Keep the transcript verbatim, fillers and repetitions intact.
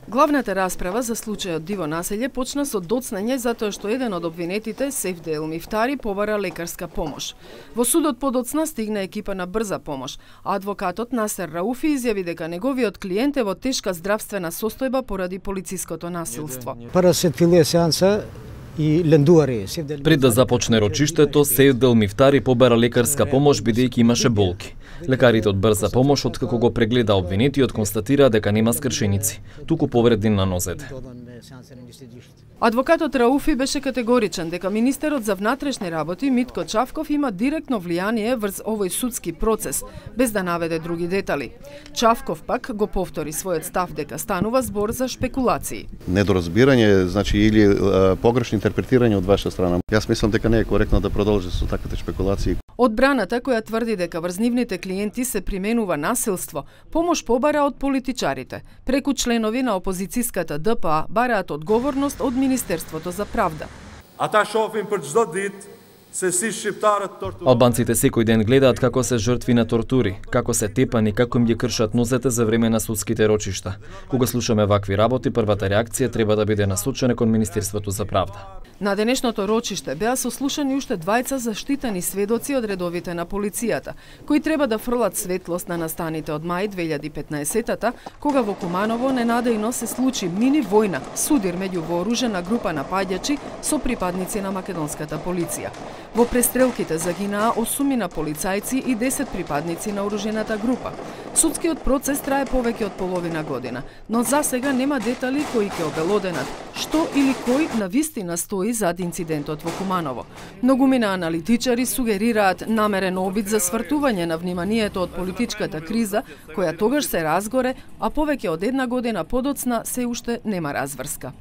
Главната расправа за случајот Диво населје почна со доцнење затоа што еден од обвинетите, Сефде Ел Мифтари, побара лекарска помош. Во судот подоцна стигна екипа на брза помош, а адвокатот Насер Рауфи изјави дека неговиот клиент е во тешка здравствена состојба поради полициското насилство. Para se filloi сеанса и лендуари. Пред да започне рочиштето, Сефде Ел Мифтари побара лекарска помош бидејќи имаше болки. Лекарите од брза помош, откако го прегледа обвинетиот, констатираа дека нема скршеници, туку повреди на нозете. Адвокатот Рауфи беше категоричен дека министерот за внатрешни работи Митко Чавков има директно влијание врз овој судски процес, без да наведе други детали. Чавков пак го повтори својот став дека станува збор за шпекулации. Недоразбирање, значи или а, погрешно интерпретирање од ваша страна. Јас мислам дека не е коректно да продолжи со таквите шпекулации. Одбраната, која тврди дека врз нивните клиенти се применува насилство, помош побара од политичарите. Преку членови на опозицијската Д П А бараат одговорност од Министерството за правда. Ата шофим për çdo ditë se si shqiptarët torturojnë. Албанците секој ден гледаат како се жртви на тортури, како се тепани, како им ги кршат нозете за време на судските рочишта. Кога слушаме вакви работи, првата реакција треба да биде насочена кон Министерството за правда. На денешното рочиште беа сослушани уште двајца заштитени сведоци од редовите на полицијата, кои треба да фрлат светлост на настаните од мај две илјади и петнаесетта, кога во Куманово ненадејно се случи мини војна, судир меѓу вооружена група напаѓачи со припадници на македонската полиција. Во престрелките загинаа осумина полицајци и десет припадници на оружената група. Судскиот процес трае повеќе од половина година, но за сега нема детали кои ќе обелоденат што или кој навистина стои зад инцидентот во Куманово. Многумина аналитичари сугерираат намерен обид за свртување на вниманието од политичката криза, која тогаш се разгоре, а повеќе од една година подоцна се уште нема разврска.